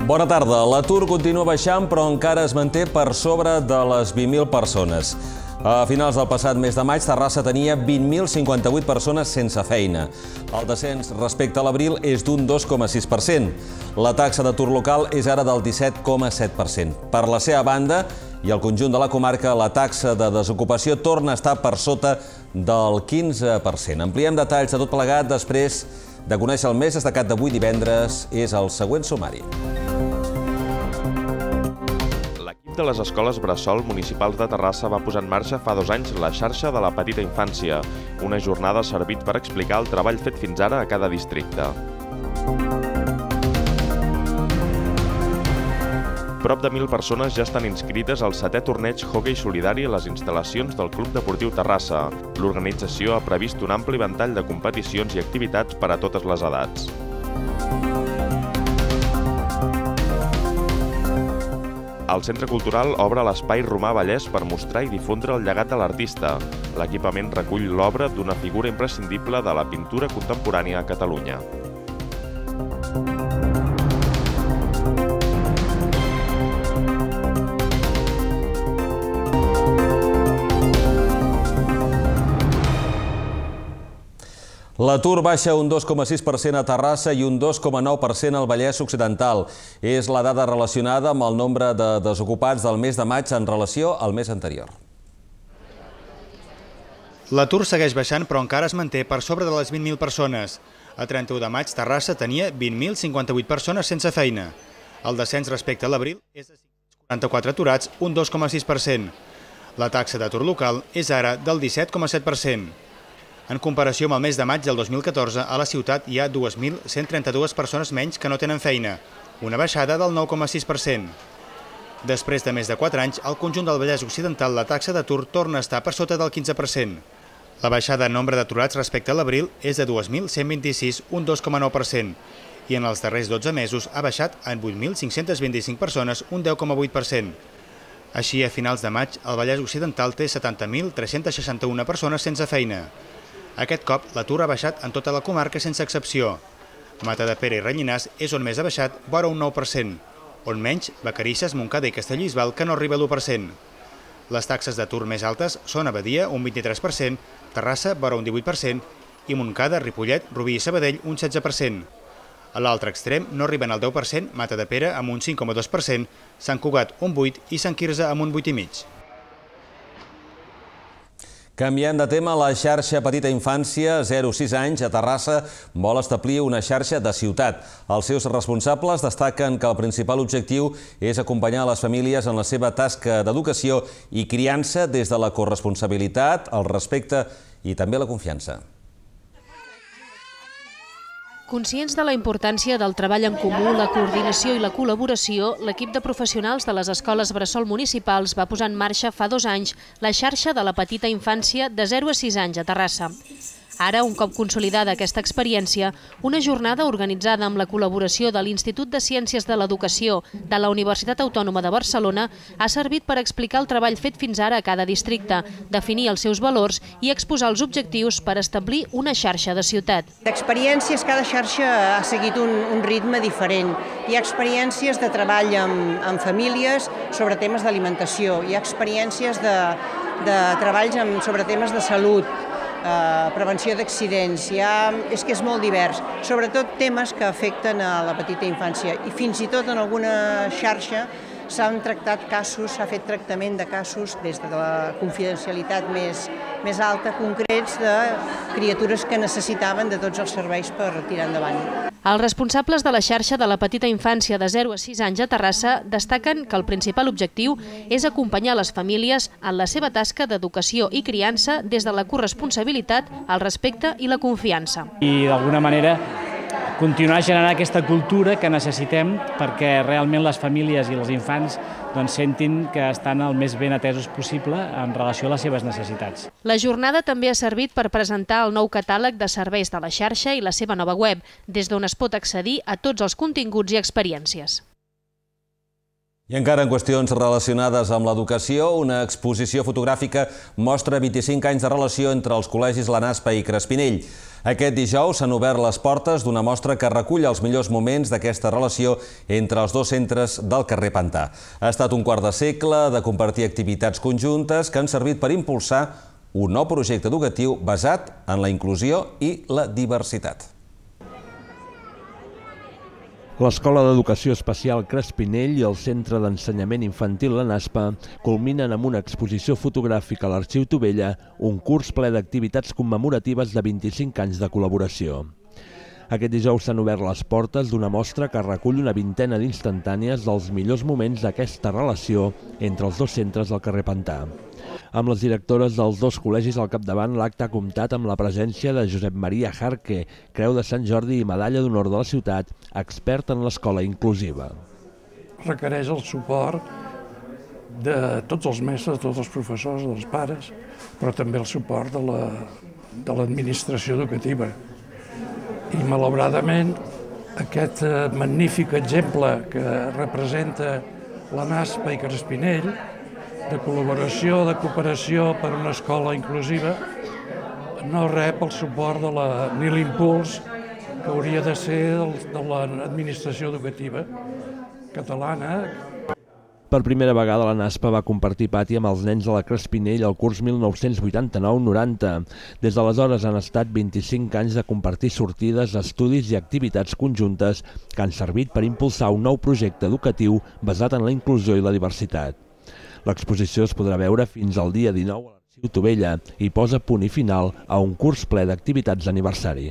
Bona tarda. L'atur continua baixant, però encara es manté per sobre de les 20.000 persones. A finals del passat mes de maig, Terrassa tenia 20.058 persones sense feina. El descens respecte a l'abril és d'un 2,6%. La taxa d'atur local és ara del 17,7%. Per la seva banda, i al conjunt de la comarca, la taxa de desocupació torna a estar per sota del 15%. Ampliem detalls de tot plegat després de conèixer el més destacat d'avui divendres. És el següent sumari. L'equip de les escoles bressol municipals de Terrassa va posar en marxa fa 2 anys la xarxa de la petita infància. Una jornada ha servit per explicar el treball fet fins ara a cada districte. Prop de 1.000 persones ja estan inscrites al 7è torneig hoquei solidari a les instal·lacions del Club Deportiu Terrassa. L'organització ha previst un ampli ventall de competicions i activitats per a totes les edats. El Centre Cultural obre l'Espai Romà Vallès per mostrar i difondre el llegat de l'artista. L'equipament recull l'obra d'una figura imprescindible de la pintura contemporània a Catalunya. L'atur baixa un 2,6% a Terrassa i un 2,9% al Vallès Occidental. És la dada relacionada amb el nombre de desocupats del mes de maig en relació al mes anterior. L'atur segueix baixant, però encara es manté per sobre de les 20.000 persones. A 31 de maig, Terrassa tenia 20.058 persones sense feina. El descens respecte a l'abril és de 544 aturats, un 2,6%. La taxa d'atur local és ara del 17,7%. En comparació amb el mes de maig del 2014, a la ciutat hi ha 2.132 persones menys que no tenen feina, una baixada del 9,6%. Després de més de 4 anys, al conjunt del Vallès Occidental la taxa d'atur torna a estar per sota del 15%. La baixada en nombre d'aturats respecte a l'abril és de 2.126, un 2,9%, i en els darrers 12 mesos ha baixat en 8.525 persones, un 10,8%. Així, a finals de maig, el Vallès Occidental té 70.361 persones sense feina. Aquest cop, l'atur ha baixat en tota la comarca sense excepció. Matadepera i Rellinars és on més ha baixat, vora un 9%, on menys, Vacarisses, Montcada i Castellbisbal, que no arriba a l'1%. Les taxes d'atur més altes són a Badia, un 23%, Terrassa, vora un 18%, i Montcada, Ripollet, Rubí i Sabadell, un 16%. A l'altre extrem no arriben al 10%, Matadepera amb un 5,2%, Sant Cugat un 8% i Sant Quirze amb un 8,5%. Canviant de tema, la xarxa Petita Infància 0-6 anys a Terrassa vol establir una xarxa de ciutat. Els seus responsables destaquen que el principal objectiu és acompanyar les famílies en la seva tasca d'educació i criança des de la corresponsabilitat, el respecte i també la confiança. Conscients de la importància del treball en comú, la coordinació i la col·laboració, l'equip de professionals de les escoles bressol municipals va posar en marxa fa 2 anys la xarxa de la petita infància de 0 a 6 anys a Terrassa. Ara, un cop consolidada aquesta experiència, una jornada organitzada amb la col·laboració de l'Institut de Ciències de l'Educació de la Universitat Autònoma de Barcelona ha servit per explicar el treball fet fins ara a cada districte, definir els seus valors i exposar els objectius per establir una xarxa de ciutat. D'experiències, cada xarxa ha seguit un ritme diferent. Hi ha experiències de treball amb famílies sobre temes d'alimentació, hi ha experiències de treballs sobre temes de salut, prevenció d'accidents, és que és molt divers, sobretot temes que afecten a la petita infància i fins i tot en alguna xarxa s'han tractat casos, s'ha fet tractament de casos des de la confidencialitat més alta, concrets de criatures que necessitaven de tots els serveis per tirar endavant. Els responsables de la xarxa de la petita infància de 0 a 6 anys a Terrassa destaquen que el principal objectiu és acompanyar les famílies en la seva tasca d'educació i criança des de la corresponsabilitat, el respecte i la confiança. I d'alguna manera continuar generant aquesta cultura que necessitem perquè realment les famílies i els infants sentin que estan el més ben atesos possible en relació a les seves necessitats. La jornada també ha servit per presentar el nou catàleg de serveis de la xarxa i la seva nova web, des d'on es pot accedir a tots els continguts i experiències. I encara en qüestions relacionades amb l'educació, una exposició fotogràfica mostra 25 anys de relació entre els col·legis La Naspa i Crespinell. Aquest dijous s'han obert les portes d'una mostra que recull els millors moments d'aquesta relació entre els dos centres del carrer Pantà. Ha estat un quart de segle de compartir activitats conjuntes que han servit per impulsar un nou projecte educatiu basat en la inclusió i la diversitat. L'Escola d'Educació Especial Crespinell i el Centre d'Ensenyament Infantil La Naspa culminen amb una exposició fotogràfica a l'Arxiu Tovella, un curs ple d'activitats commemoratives de 25 anys de col·laboració. Aquest dijous s'han obert les portes d'una mostra que recull una vintena d'instantànies dels millors moments d'aquesta relació entre els dos centres del carrer Pantà. Amb les directores dels dos col·legis al capdavant, l'acte ha comptat amb la presència de Josep Maria Jarque, Creu de Sant Jordi i Medalla d'Honor de la ciutat, expert en l'escola inclusiva. Requereix el suport de tots els mestres, de tots els professors, dels pares, però també el suport de l'administració educativa. I malauradament aquest magnífic exemple que representa La Naspa i Crespinell, de col·laboració, de cooperació per una escola inclusiva, no rep el suport ni l'impuls que hauria de ser de l'administració educativa catalana. Per primera vegada la Naspa va compartir pati amb els nens de la Crespinell el curs 1989-90. Des d'aleshores han estat 25 anys de compartir sortides, estudis i activitats conjuntes que han servit per impulsar un nou projecte educatiu basat en la inclusió i la diversitat. L'exposició es podrà veure fins al dia 19 a l'Arxiu Tovella i posa punt i final a un curs ple d'activitats d'aniversari.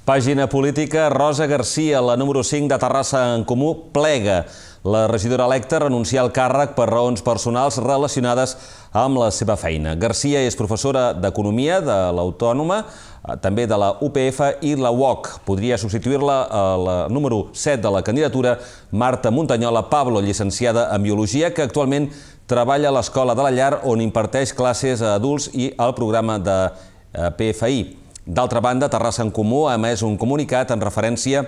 Pàgina política, Rosa Garcia, la número 5 de Terrassa en Comú, plega. La regidora electa renuncia al càrrec per raons personals relacionades amb la seva feina. Garcia és professora d'Economia de l'Autònoma, també de la UPF i la UOC. Podria substituir-la a la número 7 de la candidatura, Marta Montanyola Pablo, llicenciada en Biologia, que actualment treballa a l'Escola de la Llar, on imparteix classes a adults i al programa de PFI. D'altra banda, Terrassa en Comú ha emès un comunicat en referència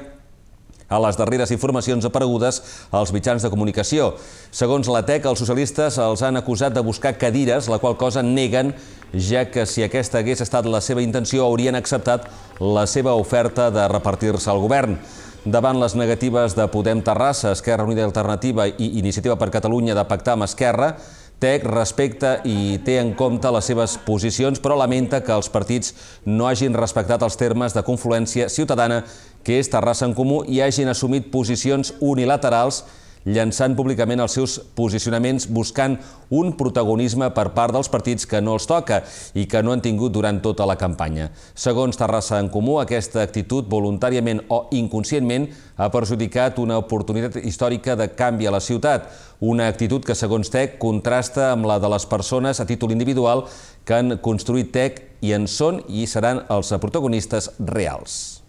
a les darreres informacions aparegudes als mitjans de comunicació. Segons la TEC, els socialistes els han acusat de buscar cadires, la qual cosa neguen, ja que si aquesta hagués estat la seva intenció haurien acceptat la seva oferta de repartir-se al govern. Davant les negatives de Podem Terrassa, Esquerra Unida i Alternativa i Iniciativa per Catalunya de pactar amb Esquerra, TEC respecta i té en compte les seves posicions, però lamenta que els partits no hagin respectat els termes de confluència ciutadana, que és Terrassa en Comú, i hagin assumit posicions unilaterals, llançant públicament els seus posicionaments buscant un protagonisme per part dels partits que no els toca i que no han tingut durant tota la campanya. Segons Terrassa en Comú, aquesta actitud, voluntàriament o inconscientment, ha perjudicat una oportunitat històrica de canvi a la ciutat. Una actitud que, segons TEC, contrasta amb la de les persones a títol individual que han construït TEC i en són i seran els protagonistes reals.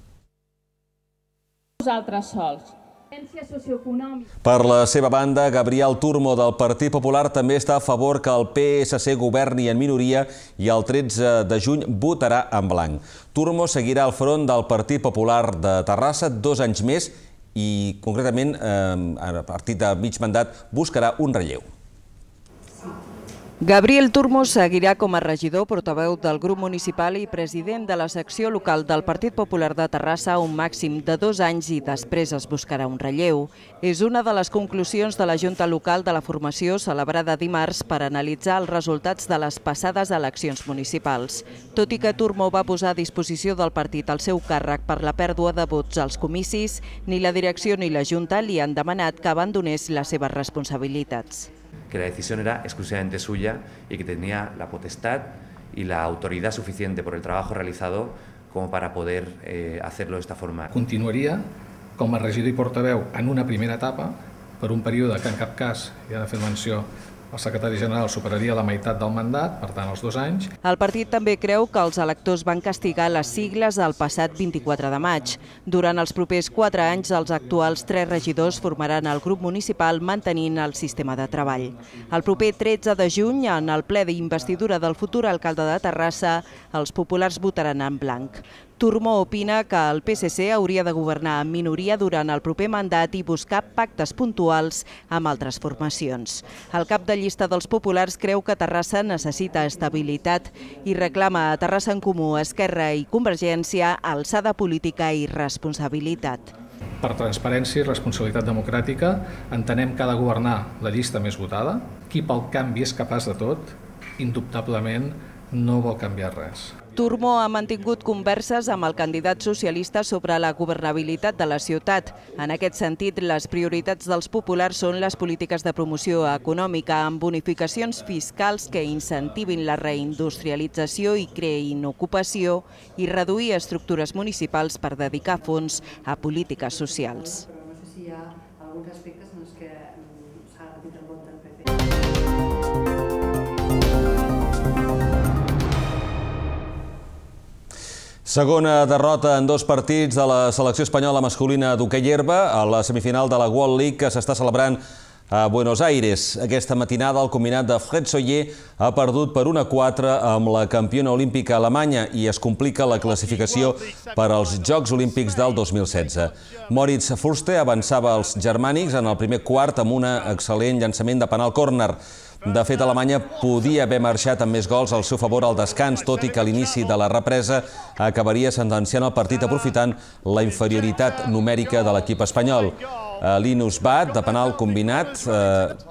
Nosaltres sols. Per la seva banda, Gabriel Turmo del Partit Popular també està a favor que el PSC governi en minoria i el 13 de juny votarà en blanc. Turmo seguirà al front del Partit Popular de Terrassa 2 anys més i, concretament, a partir de mig mandat, buscarà un relleu. Gabriel Turmo seguirà com a regidor, portaveu del grup municipal i president de la secció local del Partit Popular de Terrassa un màxim de 2 anys i després es buscarà un relleu. És una de les conclusions de la Junta Local de la formació celebrada dimarts per analitzar els resultats de les passades eleccions municipals. Tot i que Turmo va posar a disposició del partit el seu càrrec per la pèrdua de vots als comicis, ni la direcció ni la Junta li han demanat que abandonés les seves responsabilitats. Que la decisión era exclusivamente suya y que tenía la potestad y la autoridad suficiente por el trabajo realizado como para poder hacerlo de esta forma. Continuaria com a regidor i portaveu en una primera etapa per un període que en cap cas, hi ha de fer menció, el secretari general superaria la meitat del mandat, per tant els 2 anys. El partit també creu que els electors van castigar les sigles el passat 24 de maig. Durant els propers 4 anys, els actuals 3 regidors formaran el grup municipal mantenint el sistema de treball. El proper 13 de juny, en el ple d'investidura del futur alcalde de Terrassa, els populars votaran en blanc. Turmó opina que el PSC hauria de governar en minoria durant el proper mandat i buscar pactes puntuals amb altres formacions. El cap de llista dels populars creu que Terrassa necessita estabilitat i reclama a Terrassa en Comú, Esquerra i Convergència alçada política i responsabilitat. Per transparència i responsabilitat democràtica entenem que ha de governar la llista més votada. Qui pel canvi és capaç de tot, indubtablement no vol canviar res. Turmó ha mantingut converses amb el candidat socialista sobre la governabilitat de la ciutat. En aquest sentit, les prioritats dels populars són les polítiques de promoció econòmica amb bonificacions fiscals que incentivin la reindustrialització i creïn ocupació i reduir estructures municipals per dedicar fons a polítiques socials. No sé si hi ha alguns aspectes en els que s'ha de tenir en compte el PP. Segona derrota en 2 partits de la selecció espanyola masculina d'hoquei herba a la semifinal de la World League que s'està celebrant a Buenos Aires. Aquesta matinada el combinat de Fred Soller ha perdut per 1-4 amb la campiona olímpica alemanya i es complica la classificació per als Jocs Olímpics del 2016. Moritz Fürste avançava als germànics en el primer quart amb un excel·lent llançament de penal córner. De fet, Alemanya podia haver marxat amb més gols al seu favor al descans, tot i que a l'inici de la represa acabaria sentenciant el partit aprofitant la inferioritat numèrica de l'equip espanyol. Linus Bat, de penal combinat,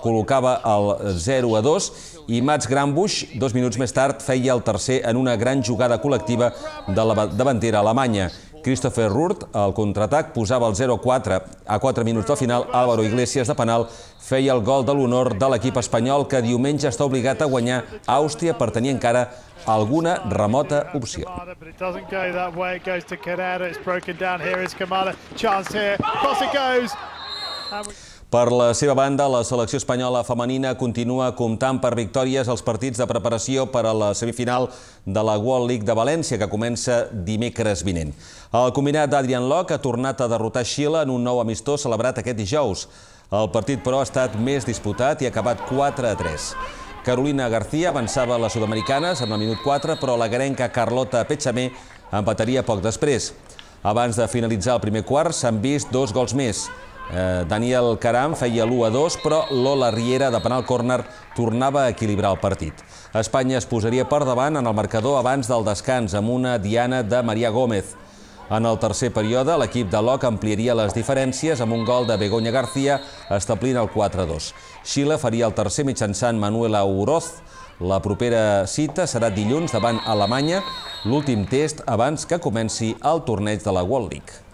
col·locava el 0-2 i Mats Grambusch, 2 minuts més tard, feia el tercer en una gran jugada col·lectiva de la davantera alemanya. Christopher Rurt, al contraatac, posava el 0-4. A 4 minuts del final, Álvaro Iglesias, de penal, feia el gol de l'honor de l'equip espanyol que diumenge està obligat a guanyar Àustria per tenir encara alguna remota opció. Per la seva banda, la selecció espanyola femenina continua comptant per victòries als partits de preparació per a la semifinal de la World League de València, que comença dimecres vinent. El combinat d'Adrian Locke ha tornat a derrotar Xile en un nou amistós celebrat aquest dijous. El partit, però, ha estat més disputat i ha acabat 4-3. Carolina García avançava a les sud-americanes en el minut 4, però la garenca Carlota Pechamé empataria poc després. Abans de finalitzar el primer quart s'han vist 2 gols més. Daniel Caram feia l'1-2, però Lola Riera, de penal córner, tornava a equilibrar el partit. Espanya es posaria per davant en el marcador abans del descans, amb una diana de Maria Gómez. En el tercer període, l'equip de Locke ampliaria les diferències amb un gol de Begoña García, establint el 4-2. Xile faria el tercer mitjançant Manuela Oroz. La propera cita serà dilluns davant Alemanya, l'últim test abans que comenci el torneig de la World League.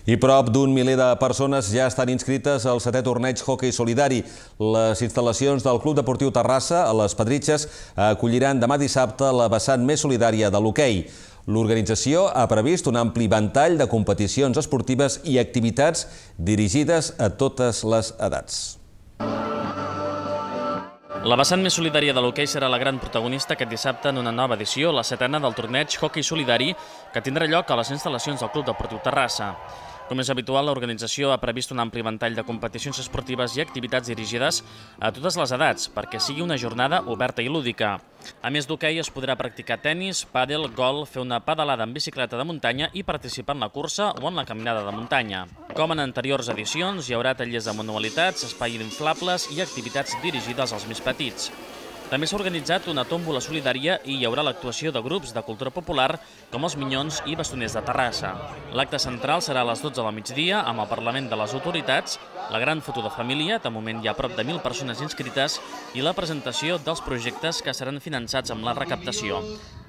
I prop d'un miler de persones ja estan inscrites al 7è torneig hoquei solidari. Les instal·lacions del Club Deportiu Terrassa, a les Pedritxes, acolliran demà dissabte la vessant més solidària de l'hoquei. L'organització ha previst un ampli ventall de competicions esportives i activitats dirigides a totes les edats. La vessant més solidària de l'hoquei serà la gran protagonista aquest dissabte en una nova edició, la 7a del torneig hoquei solidari, que tindrà lloc a les instal·lacions del Club Deportiu Terrassa. Com és habitual, l'organització ha previst un ampli ventall de competicions esportives i activitats dirigides a totes les edats, perquè sigui una jornada oberta i lúdica. A més d'hoquei, es podrà practicar tennis, pàdel, golf, fer una pedalada en bicicleta de muntanya i participar en la cursa o en la caminada de muntanya. Com en anteriors edicions, hi haurà tallers de manualitats, espai d'inflables i activitats dirigides als més petits. També s'ha organitzat una tòmbola solidària i hi haurà l'actuació de grups de cultura popular com els Minyons i Bastoners de Terrassa. L'acte central serà a les 12 del migdia amb el Parlament de les Autoritats, la gran foto de família, de moment hi ha prop de 1.000 persones inscrites, i la presentació dels projectes que seran finançats amb la recaptació.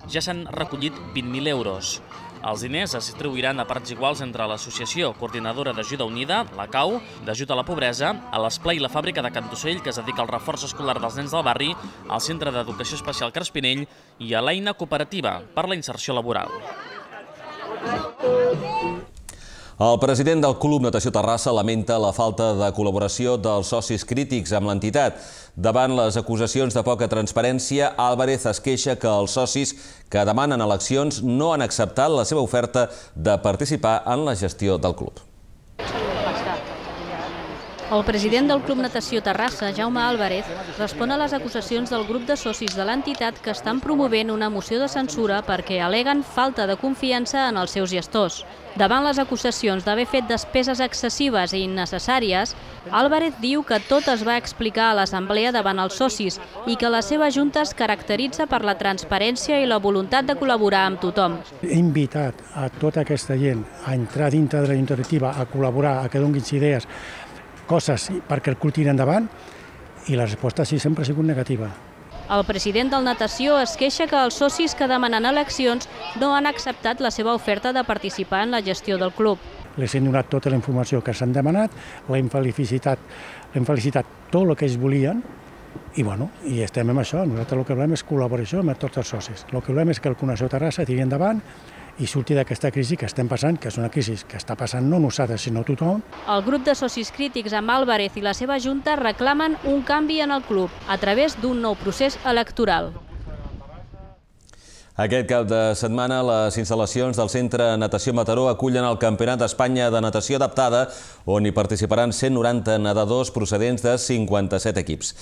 Ja s'han recollit 20.000 euros. Els diners es distribuiran a parts iguals entre l'Associació Coordinadora d'Ajuda Unida, la CAU, d'Ajut a la Pobresa, a l'Esplai i la Fàbrica de Can Tussell, que es dedica al reforç escolar dels nens del barri, al Centre d'Educació Especial Crespinell i a l'Eina Cooperativa per la inserció laboral. El president del Club Natació Terrassa lamenta la falta de col·laboració dels socis crítics amb l'entitat. Davant les acusacions de poca transparència, Álvarez es queixa que els socis que demanen eleccions no han acceptat la seva oferta de participar en la gestió del club. El president del Club Natació Terrassa, Jaume Álvarez, respon a les acusacions del grup de socis de l'entitat que estan promovent una moció de censura perquè al·leguen falta de confiança en els seus gestors. Davant les acusacions d'haver fet despeses excessives i innecessàries, Álvarez diu que tot es va explicar a l'assemblea davant els socis i que la seva junta es caracteritza per la transparència i la voluntat de col·laborar amb tothom. He invitat a tota aquesta gent a entrar dintre de la junta directiva, a col·laborar, a que donin idees, coses perquè el club tiri endavant, i la resposta sí sempre ha sigut negativa. El president del Natació es queixa que els socis que demanen eleccions no han acceptat la seva oferta de participar en la gestió del club. Les hem donat tota la informació que s'han demanat, l'hem felicitat tot el que ells volien, i estem amb això. Nosaltres el que volem és col·laboració amb tots els socis. El que volem és que el Club Natació Terrassa tiri endavant i surti d'aquesta crisi que estem passant, que és una crisi que està passant no nosaltres, sinó tothom. El grup de socis crítics amb Álvarez i la seva junta reclamen un canvi en el club a través d'un nou procés electoral. Aquest cap de setmana, les instal·lacions del Centre Natació Mataró acullen el Campionat d'Espanya de Natació Adaptada, on hi participaran 190 nedadors procedents de 57 equips.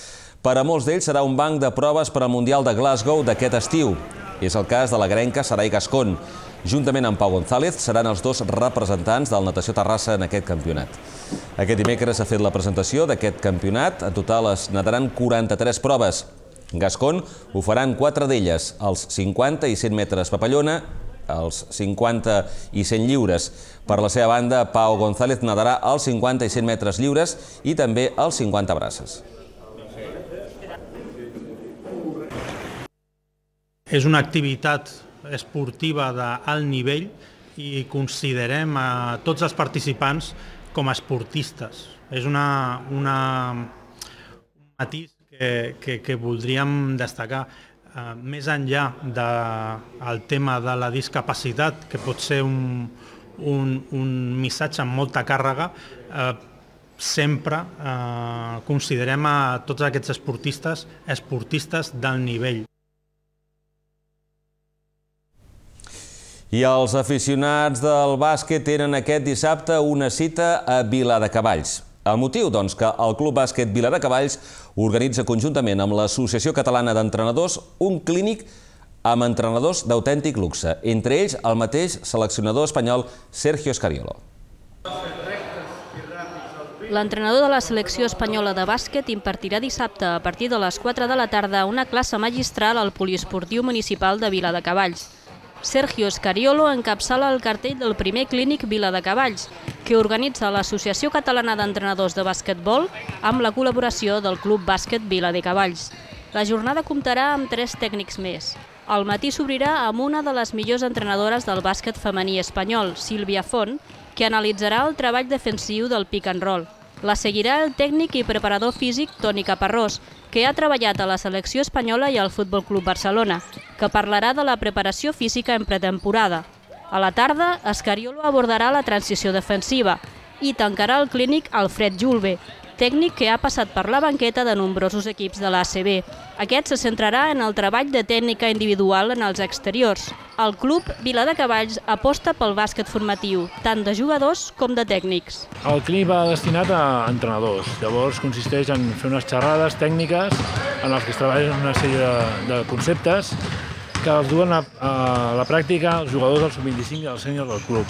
Per a molts d'ells serà un banc de proves per al Mundial de Glasgow d'aquest estiu. És el cas de la grenca Sarai Gascón. Juntament amb Pau González seran els dos representants del Natació Terrassa en aquest campionat. Aquest dimecres s'ha fet la presentació d'aquest campionat. En total es nadaran 43 proves. Gascón ho faran 4 d'elles, els 50 i 100 metres papallona, els 50 i 100 lliures. Per la seva banda, Pau González nadarà els 50 i 100 metres lliures i també els 50 braces. És una activitat esportiva d'alt nivell i considerem a tots els participants com a esportistes. És un matís que voldríem destacar. Més enllà del tema de la discapacitat, que pot ser un missatge amb molta càrrega, sempre considerem a tots aquests esportistes d'alt nivell. I els aficionats del bàsquet tenen aquest dissabte una cita a Viladecavalls. El motiu, doncs, que el Club Bàsquet Viladecavalls organitza conjuntament amb l'Associació Catalana d'Entrenadors un clínic amb entrenadors d'autèntic luxe, entre ells el mateix seleccionador espanyol Sergio Scariolo. L'entrenador de la selecció espanyola de bàsquet impartirà dissabte a partir de les 4 de la tarda una classe magistral al poliesportiu municipal de Viladecavalls. Sergio Scariolo encapçala el cartell del primer clínic Viladecavalls, que organitza l'Associació Catalana d'Entrenadors de Bàsquetbol amb la col·laboració del Club Bàsquet Viladecavalls. La jornada comptarà amb 3 tècnics més. Al matí s'obrirà amb una de les millors entrenadores del bàsquet femení espanyol, Sílvia Font, que analitzarà el treball defensiu del pick and roll. La seguirà el tècnic i preparador físic Toni Caparrós, que ha treballat a la selecció espanyola i al Futbol Club Barcelona, que parlarà de la preparació física en pretemporada. A la tarda, Scariolo abordarà la transició defensiva i tancarà el clínic Alfred Julve, tècnic que ha passat per la banqueta de nombrosos equips de l'ACB. Aquest se centrarà en el treball de tècnica individual en els exteriors. El club Viladecavalls aposta pel bàsquet formatiu, tant de jugadors com de tècnics. El clínic va destinat a entrenadors. Llavors consisteix en fer unes xerrades tècniques en les que es treballen una sèrie de conceptes que els duen a la pràctica els jugadors del sub-25 i els sèniors del club.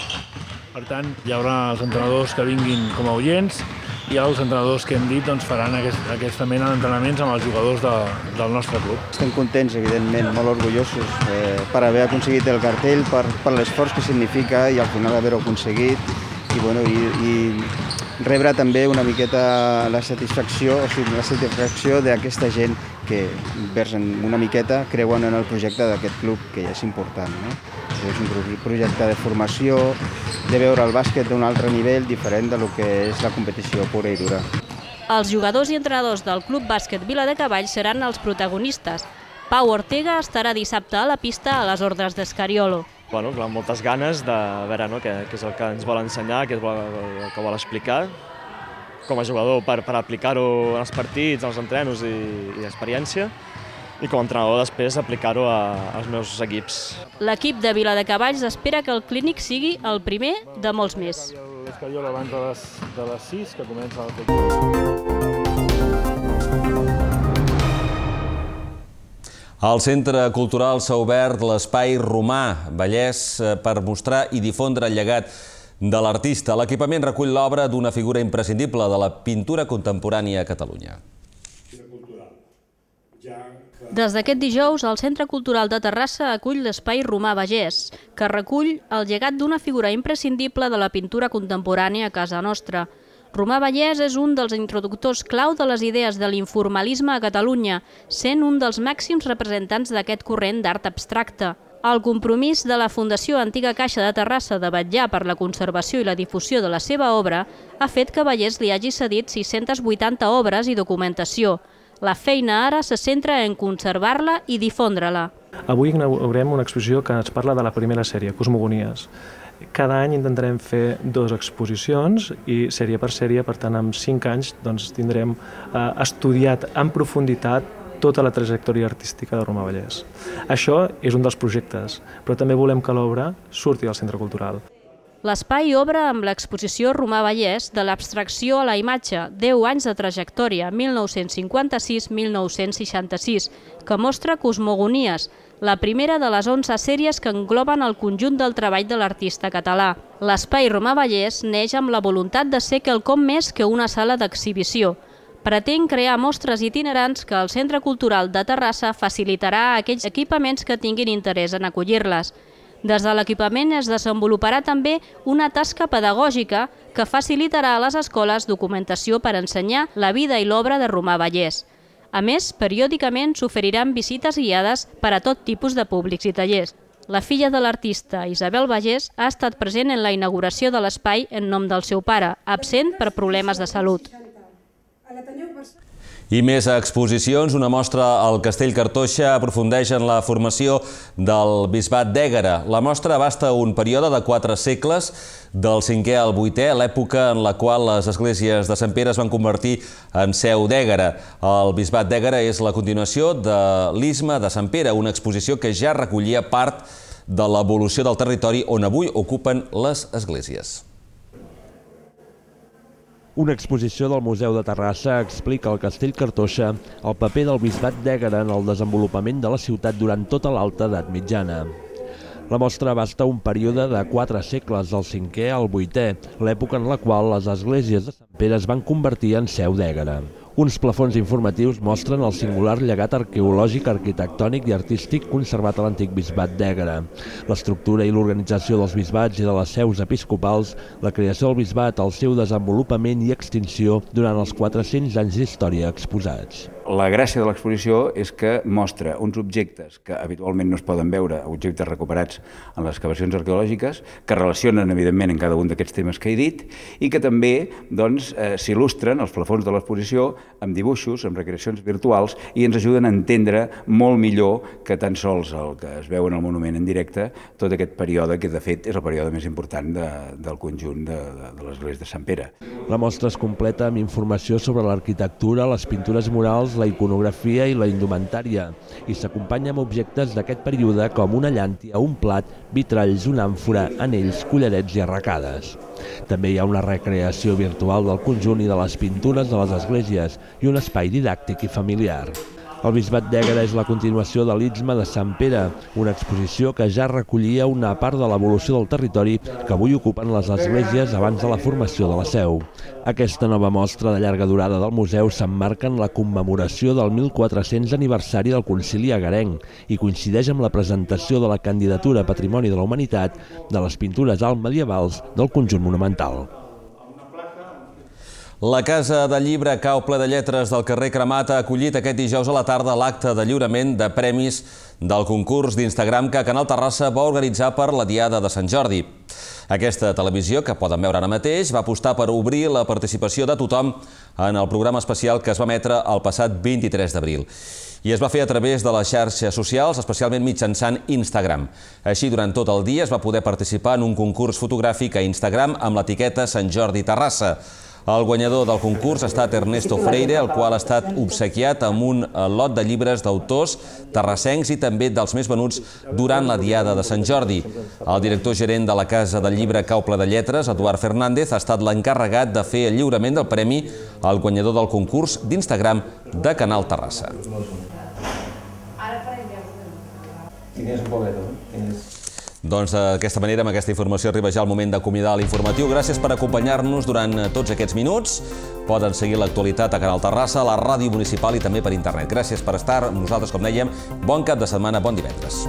Per tant, hi haurà els entrenadors que vinguin com a oients i els entrenadors que hem dit faran aquesta mena d'entrenaments amb els jugadors del nostre club. Estem contents, evidentment, molt orgullosos per haver aconseguit el cartell, per l'esforç que significa i al final haver-ho aconseguit i rebre també una miqueta la satisfacció d'aquesta gent que versen una miqueta, creuen en el projecte d'aquest club, que és important. És un projecte de formació, de veure el bàsquet d'un altre nivell diferent del que és la competició pura i dura. Els jugadors i entrenadors del Club Bàsquet Viladecavalls seran els protagonistes. Pau Ortega estarà dissabte a la pista a les ordres d'Scariolo. Moltes ganes de veure què és el que ens vol ensenyar, què és el que vol explicar com a jugador per aplicar-ho als partits, als entrenos i experiència, i com a entrenador després aplicar-ho als meus equips. L'equip de Viladecavalls espera que el clínic sigui el primer de molts més. Cariolo abans de les 6, que comença el concurs. Al Centre Cultural s'ha obert l'Espai Romà Vallès per mostrar i difondre el llegat de l'artista. L'equipament recull l'obra d'una figura imprescindible de la pintura contemporània a Catalunya. Des d'aquest dijous, el Centre Cultural de Terrassa acull l'Espai Romà Vallès, que recull el llegat d'una figura imprescindible de la pintura contemporània a casa nostra. Romà Vallès és un dels introductors clau de les idees de l'informalisme a Catalunya, sent un dels màxims representants d'aquest corrent d'art abstracte. El compromís de la Fundació Antiga Caixa de Terrassa de vetllar per la conservació i la difusió de la seva obra ha fet que Vallès li hagi cedit 680 obres i documentació. La feina ara se centra en conservar-la i difondre-la. Avui inaugurem una exposició que ens parla de la primera sèrie, Cosmogonies. Cada any intentarem fer 2 exposicions i sèrie per sèrie, per tant, en 5 anys tindrem estudiat en profunditat tota la trajectòria artística de Romà Vallès. Això és un dels projectes, però també volem que l'obra surti del centre cultural. L'espai obre amb l'exposició Romà Vallès de l'abstracció a la imatge, 10 anys de trajectòria, 1956-1966, que mostra Cosmogonies, la primera de les 11 sèries que engloben el conjunt del treball de l'artista català. L'espai Romà Vallès neix amb la voluntat de ser quelcom més que una sala d'exhibició. Pretén crear mostres itinerants que el Centre Cultural de Terrassa facilitarà a aquells equipaments que tinguin interès en acollir-les. Des de l'equipament es desenvoluparà també una tasca pedagògica que facilitarà a les escoles documentació per ensenyar la vida i l'obra de Romà Vallès. A més, periòdicament s'oferiran visites guiades per a tot tipus de públics i tallers. La filla de l'artista, Isabel Vallès, ha estat present en la inauguració de l'espai en nom del seu pare, absent per problemes de salut. I més exposicions. Una mostra al Castell Cartoixa aprofundeix en la formació del bisbat d'Ègara. La mostra abasta un període de 4 segles, del 5è al 8è, l'època en la qual les esglésies de Sant Pere es van convertir en seu d'Ègara. El bisbat d'Ègara és la continuació de l'Isme de Sant Pere, una exposició que ja recollia part de l'evolució del territori on avui ocupen les esglésies. Una exposició del Museu de Terrassa explica al Castell Cartoixa el paper del bisbat d'Ègara en el desenvolupament de la ciutat durant tota l'alta edat mitjana. La mostra abasta un període de 4 segles, del 5è al 8è, l'època en la qual les esglésies de Sant Pere es van convertir en seu d'Ègara. Uns plafons informatius mostren el singular llegat arqueològic, arquitectònic i artístic conservat a l'antic bisbat d'Ègara, l'estructura i l'organització dels bisbats i de les seus episcopals, la creació del bisbat, el seu desenvolupament i extinció durant els 400 anys d'història exposats. La gràcia de l'exposició és que mostra uns objectes que habitualment no es poden veure, objectes recuperats en les excavacions arqueològiques, que relacionen evidentment en cada un d'aquests temes que he dit i que també s'il·lustren els plafons de l'exposició amb dibuixos, amb recreacions virtuals i ens ajuden a entendre molt millor que tan sols el que es veu en el monument en directe, tot aquest període que de fet és el període més important del conjunt de l'església de Sant Pere. La mostra es completa amb informació sobre l'arquitectura, les pintures murals, la iconografia i la indumentària, i s'acompanya amb objectes d'aquest període com una llàntia, un plat, vitralls, una àmfora, anells, collarets i arracades. També hi ha una recreació virtual del conjunt i de les pintures de les esglésies i un espai didàctic i familiar. El bisbat d'Ègara és la continuació de l'Istme de Sant Pere, una exposició que ja recollia una part de l'evolució del territori que avui ocupen les esglésies abans de la formació de la seu. Aquesta nova mostra de llarga durada del museu s'emmarca en la commemoració del 1400 aniversari del Concili Egarenc i coincideix amb la presentació de la candidatura a Patrimoni de la Humanitat de les pintures altmedievals del conjunt monumental. La Casa del Llibre Cau ple de lletres del carrer Cremat ha acollit aquest dijous a la tarda l'acte de lliurament de premis del concurs d'Instagram que Canal Terrassa va organitzar per la Diada de Sant Jordi. Aquesta televisió, que poden veure ara mateix, va apostar per obrir la participació de tothom en el programa especial que es va emetre el passat 23 d'abril. I es va fer a través de les xarxes socials, especialment mitjançant Instagram. Així, durant tot el dia es va poder participar en un concurs fotogràfic a Instagram amb l'etiqueta Sant Jordi Terrassa. El guanyador del concurs ha estat Ernesto Freire, el qual ha estat obsequiat amb un lot de llibres d'autors terrassencs i també dels més venuts durant la Diada de Sant Jordi. El director gerent de la Casa del Llibre Cauple de Lletres, Eduard Fernández, ha estat l'encarregat de fer el lliurament del premi al guanyador del concurs d'Instagram de Canal Terrassa. Doncs d'aquesta manera, amb aquesta informació, arriba ja el moment d'acomiadar l'informatiu. Gràcies per acompanyar-nos durant tots aquests minuts. Poden seguir l'actualitat a Canal Terrassa, a la ràdio municipal i també per internet. Gràcies per estar amb nosaltres, com dèiem. Bon cap de setmana, bon divendres.